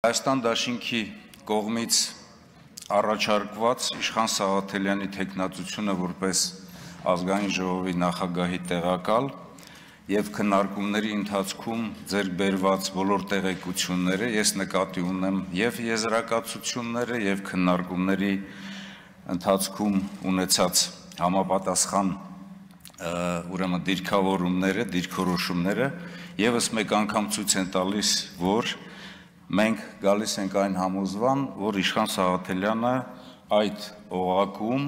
Հայաստան դաշինքի կողմից առաջարկված Իշխան Սաղաթելյանի թեկնածությունը որպես ազգային ժողովի նախագահի տեղակալ եւ քննարկումների ընթացքում ձեռք բերված բոլոր տեղեկությունները ես նկատի ունեմ եւ եզրակացությունները եւ քննարկումների ընթացքում ունեցած համապատասխան ուրեմն դիրքավորումները, դիրքորոշումները եւս մեկ անգամ ցույց են տալիս, որ մենք գալիս ենք այն համոզման, որ Իշխան Սաղաթելյանը այդ օղակում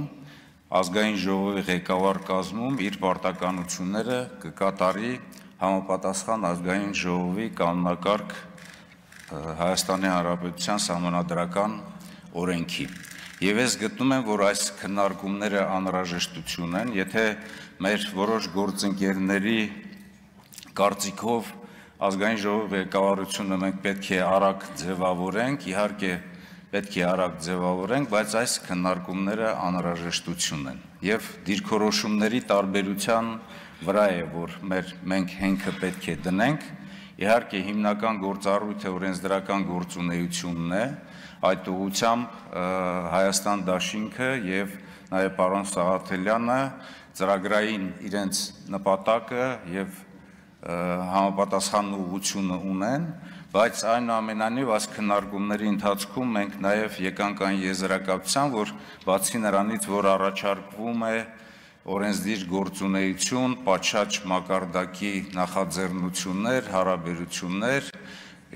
ազգային ժողովի ղեկավար կազմում իր պարտականությունները կկատարի համապատասխան ազգային ժողովի կանոնակարգ Հայաստանի Հանրապետության Սահմանադրական օրենքի։ Եվ ես գտնում եմ, որ այս քննարկումները անհրաժեշտություն են, եթե մեր որոշ գործընկերների կարծիքով ազգային ժողովի ղեկավարությունը մենք պետք է արագ ձևավորենք, իհարկե պետք է արագ ձևավորենք, բայց այս քննարկումները անհրաժեշտություն են։ Եվ դիրքորոշումների տարբերության վրա է, որ մենք հենքը պետք է դնենք, իհարկե հիմնական գործառույթը օրենսդրական գործունեությունն է, այդ ուղղությամբ Հայաստան դաշինքը եւ նաեւ պարոն Սաղաթելյանը ծրագրային իրենց նպատակը եւ համապատասխան ուղղությունը ունեն, բայց այնուամենայնիվ այս քննարկումների ընթացքում մենք նաև եկանք այն եզրակացության, որ բացի նրանից, որ առաջարկվում է օրենսդիր գործունեություն, պատշաճ մակարդակի նախաձեռնություններ, հարաբերություններ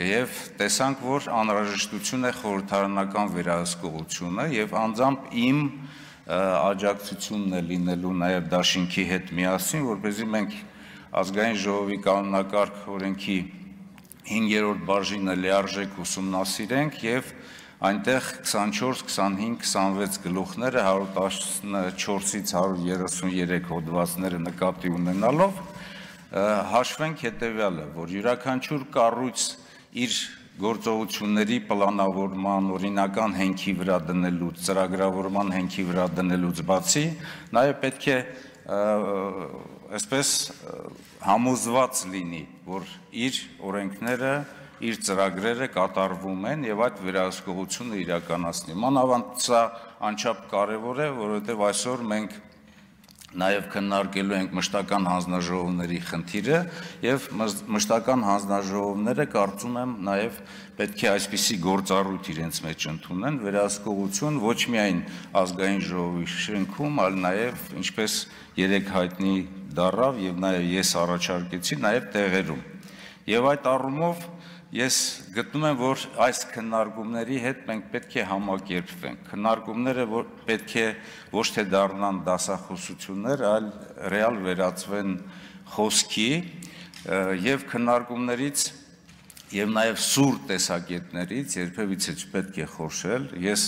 եւ տեսանք, որ անհրաժեշտություն է խորհրդարանական վերահսկողությունը եւ անձամբ իմ աջակցությունն է լինելու նաև դաշինքի հետ միասին, որպեսզի մենք ազգային ժողովի կանոնակարգ օրենքի 5-րդ բաժինը լիարժեք ուսումնասիրենք եւ այնտեղ 24, 25, 26 գլուխները 114-ից 133 հոդվածները նկատի ունենալով հաշվենք հետեւյալը, որ յուրաքանչյուր կառույց իր գործողությունների պլանավորման, օրինական հենքի վրա դնելուց, ծրագրավորման հենքի վրա դնելուց բացի նաեւ պետք է այսպես համոզված լինի, որ իր օրենքները, իր ծրագրերը կատարվում են եւ այդ վերահսկողությունը իրականացնի։ Մանավանդ սա անչափ կարեւոր է, որովհետեւ այսօր մենք նաև քննարկելու ենք մշտական հանձնաժողովների խնդիրը եւ մշտական հանձնաժողովները կարծում եմ նաև պետք է այսպիսի գործառույթ իրենց մեջ ընդունեն վերահսկողություն ոչ միայն ազգային ժողովի շենքում, այլ նաև ինչպես երեք հայտնի դառավ եւ նաև ես առաջարկեցի նաև տեղերում։ Եվ այդ առումով ես գտնում եմ, որ այս քննարկումների հետ մենք պետք է համակերպվենք։ Քննարկումները պետք է ոչ թե դառնան դասախոսություններ, այլ ռեալ վերածվեն խոսքի եւ քննարկումներից եւ նաեւ սուր տեսակետներից երբևիցե չպետք է խորշել։ Ես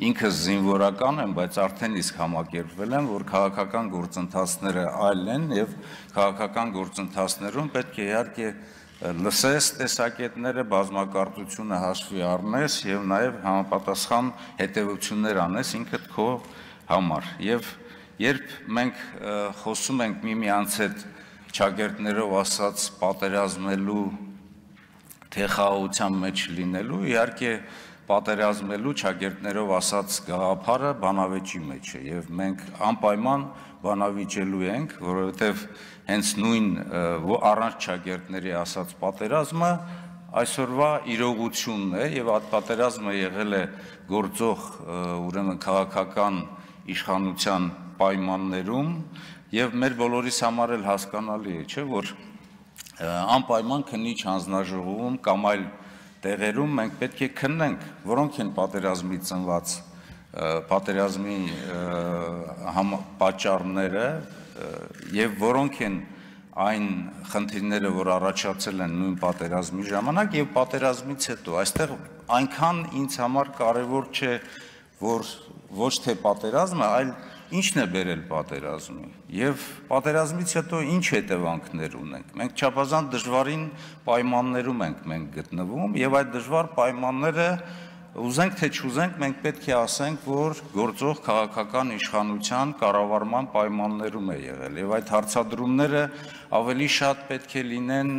ինքս զինվորական եմ, բայց արդեն իսկ համակերպվել եմ, որ քաղաքական գործընթացները այլ են եւ քաղաքական գործընթացներում պետք է իհարկե լսես տեսակետները, բազմակարծությունը հաշվի առնես եւ նաեւ համապատասխան հետեւություններ անես ինքդ քո համար։ Եվ երբ մենք խոսում ենք միմյանց հետ ճակերտներով ասած պատերազմելու թե խաղաղության մեջ լինելու, իհարկե պատերազմելու ճակերտներով ասած գաղափարը բանավեճի մեջ է եւ մենք անպայման բանավիճելու ենք, որովհետեւ հենց նույն առանց ճակերտների ասած պատերազմը այսօրվա իրողությունն է եւ այդ պատերազմը եղել է գործող ուրեմն քաղաքական իշխանության պայմաններում եւ մեր բոլորիս համար էլ հասկանալի է, չէ՞, որ անպայման քննիչ հանձնաժողովում կամ այլ տեղերում մենք պետք է քննենք, որոնք են պատերազմի ծնված պատերազմի պատճառները եւ որոնք են այն խնդիրները, որ առաջացել են նույն պատերազմի ժամանակ եւ պատերազմից հետո։ Այստեղ այնքան ինձ համար կարեւոր չէ, որ ոչ թե պատերազմը, այլ ինչն է բերել պատերազմին եւ պատերազմից հետո ինչ հետևանքներ ունենք։ Մենք չափազանց դժվարին պայմաններում ենք գտնվում եւ այդ դժվար պայմանները ուզենք թե չուզենք մենք պետք է ասենք, որ գործող քաղաքական իշխանության կառավարման պայմաններում է եղել եւ այդ հարցադրումները ավելի շատ պետք է լինեն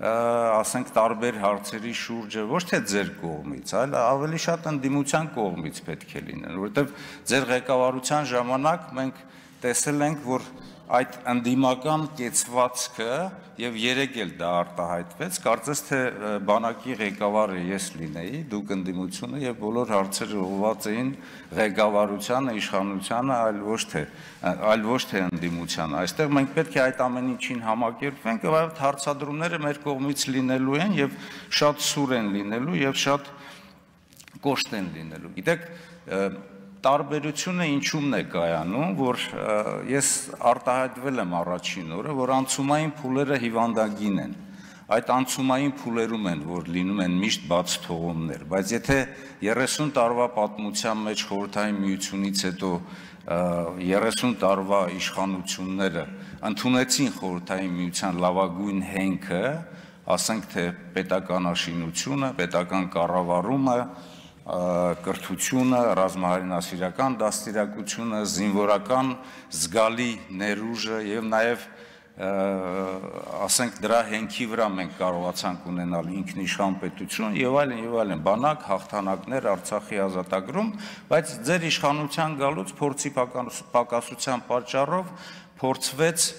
ասենք տարբեր հարցերի շուրջը ոչ թե ձեր կողմից, այլ ավելի շատ ընդդիմության կողմից պետք է լինեն, որովհետև ձեր ղեկավարության ժամանակ մենք տեսել ենք, որ այդ ընդդիմական կեցվածքը եւ երեք էլ դա արտահայտվեց, կարծես թե բանակի ղեկավարը ես լինեի, դուք ընդդիմությունը եւ բոլոր հարցերը ուղղված էին ղեկավարությանը, իշխանությանը, այլ ոչ թե ընդդիմությանը։ Այստեղ մենք պետք է այդ ամեն ինչին համակերպվենք եւ այդ հարցադրումները մեր կողմից լինելու են եւ շատ սուր են լինելու եւ շատ կոշտ են լինելու։ Գիտեք, տարբերությունը ինչումն է կայանում, որ ես արտահայտվել եմ առաջին օրը, որ անցումային փուլերը հիվանդագին են։ Այդ անցումային փուլերում են, որ լինում են միշտ բաց թողումներ, բայց եթե 30 տարվա պատմության մեջ Խորհրդային Միությունից հետո 30 տարվա իշխանությունները ընդունեցին Խորհրդային Միության լավագույն հենքը, ասենք թե պետականաշինությունը, պետական կառավարումը, կրթությունը, ռազմահարինասիրական դաստիարակությունը, զինվորական զգալի ներուժը եւ նաեւ ասենք դրա հենքի վրա մենք կարողացանք ունենալ ինքնիշխան պետություն եւ այլն, բանակ, հաղթանակներ, Արցախի ազատագրում, բայց ձեր իշխանության գալուց փորձի պակասության պատճառով փորձվեց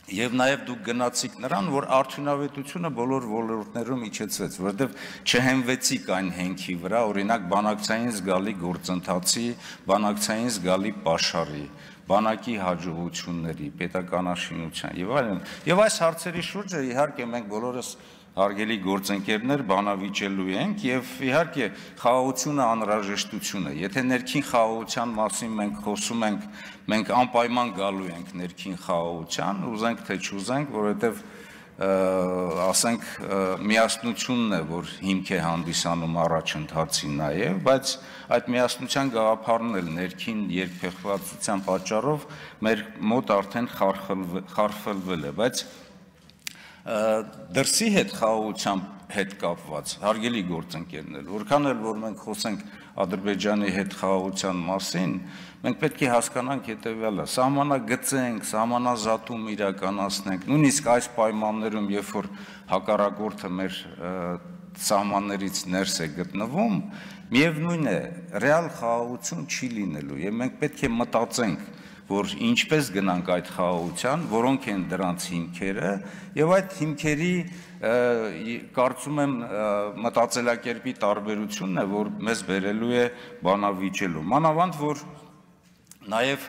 եւ նաեւ դուք գնացիք նրան, որ արդյունավետությունը բոլոր ոլորտներում իջեցվեց, որովհետեւ չհենվեցիք այն հենքի վրա, օրինակ բանակցային զգալի գործընթացի, բանակցային զգալի պաշարի, բանակի հաջողությունների, պետականաշինության եւ այլն։ Եվ այս հարցերի շուրջը իհարկե մենք բոլորս հարգելի գործընկերներ բանավիճելու ենք եւ իհարկե խաղաղությունը անհրաժեշտություն է։ Եթե ներքին խաղաղության մասին մենք խոսում ենք, մենք անպայման գալու ենք ներքին խաղաղության, ուզենք թե չուզենք, որովհետեւ ասենք միասնությունն է, որ հիմք է հանդիսանում առաջընթացի նաեւ, բայց այդ միասնության գաղափարն էլ ներքին երկփեղվածության պատճառով մեր մոտ արդեն խարխլվել է, բայց դրսի հետ խաղաղության հետ կապված հարգելի գործընկերներ, որքան էլ որ մենք խոսենք Ադրբեջանի հետ խաղաղության մասին, մենք պետք է հասկանանք հետևյալը, սահմանագծենք, սահմանազատում իրականացնենք, նույնիսկ այս պայմաններում, երբ որ հակառակորդը մեր սահմաններից ներս է գտնվում, միևնույն է, ռեալ խաղաղություն չի լինելու եւ մենք պետք է մտածենք, որ ինչպես գնանք այդ խաղաղության, որոնք են դրանց հիմքերը եւ այդ հիմքերի կարծում եմ մտածելակերպի տարբերությունն է, որ մեզ բերելու է բանավիճելու։ Մանավանդ որ նաեւ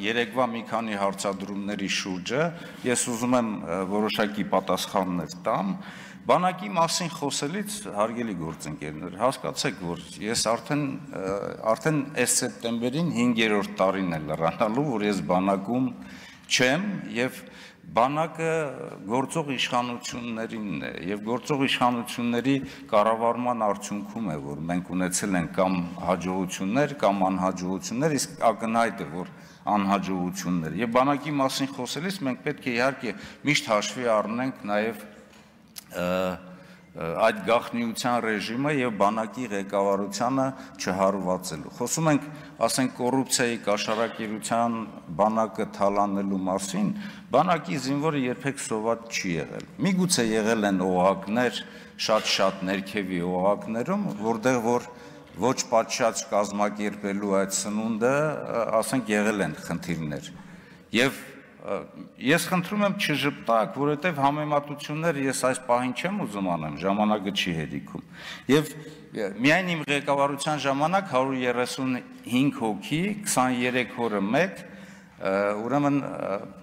երեկվա մի քանի հարցադրումների շուրջը ես ուզում եմ որոշակի պատասխաններ տամ, բանակի մասին խոսելից հարգելի գործընկերներ, հասկացեք, որ ես արդեն այս սեպտեմբերին 5-րդ տարին է լրանալու, որ ես բանակում չեմ եւ բանակը գործող իշխանություններինն է եւ գործող իշխանությունների կառավարման արդյունքում է, որ մենք ունեցել ենք կամ հաջողություններ, կամ անհաջողություններ, իսկ ակնհայտ է, որ անհաջողություններ եւ բանակի մասին խոսելիս մենք պետք է իհարկե միշտ հաշվի առնենք նաեւ այդ գաղտնիության ռեժիմը եւ բանակի ղեկավարությանը չհարվածելու։ Խոսում ենք, ասենք կոռուպցիայի կաշառակերության բանակը թալանելու մասին, բանակի զինվորը երբեք սոված չի եղել։ Միգուցե եղել են օղակներ, շատ ներքևի օղակներում, որտեղ որ ոչ պատշաճ կազմակերպելու այդ սնունդը, ասենք եղել են խնդիրներ։ Եվ ես խնդրում եմ չժպտակ, որովհետև համեմատություններ ես այս պահին չեմ ուզում անեմ, ժամանակը չի հերիքում։ Եվ միայն իմ ղեկավարության ժամանակ 135 հոգի, 23 օրը մեկ, ուրեմն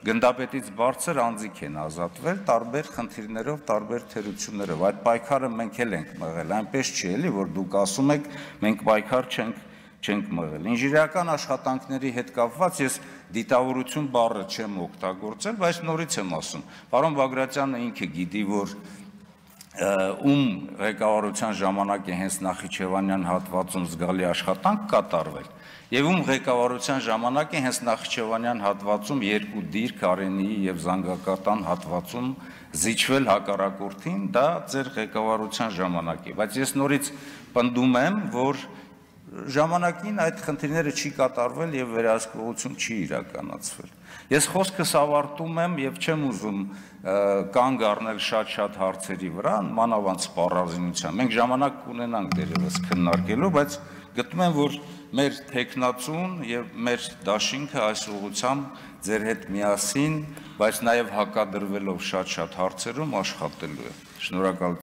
գնդապետից բարձր անձիկ են ազատվել տարբեր խնդիրներով, տարբեր թերություններով։ Այդ պայքարը մենք էլ ենք մղել, այնպես չի էլի, որ դուք ասում եք, մենք պայքար չենք մղել։ Ինժեներական աշխատանքների հետ կապված ես դիտավորություն բառը չեմ օգտագործել, բայց նորից եմ ասում, պարոն Բագրատյանը ինքը գիտի, որ ում ղեկավարության ժամանակ է հենց Նախիջևանյան հատվածում զգալի աշխատանք կատարվել, եւ ում ղեկավարության ժամանակ է հենց Նախիջևանյան հատվածում երկու դիրք Արենիի եւ Զանգակատան հատվածում զիջվել հակառակորդին, դա ձեր ղեկավարության ժամանակ է, բայց ես նորից պնդում եմ, որ ժամանակին այդ խնդիրները չի կատարվել եւ վերահսկողություն չի իրականացվել։ Ես խոսքս ավարտում եմ եւ չեմ ուզում կանգ առնել շատ հարցերի վրա, մանավանդ սպառազինության։ Մենք ժամանակ կունենանք դերևս քննարկելու, բայց գտնում եմ, որ մեր տեխնացուն եւ մեր դաշինքը այս ուղղությամբ ձեր հետ միասին, բայց նաեւ հակադրվելով շատ հարցերում աշխատելու է։ Շնորհակալ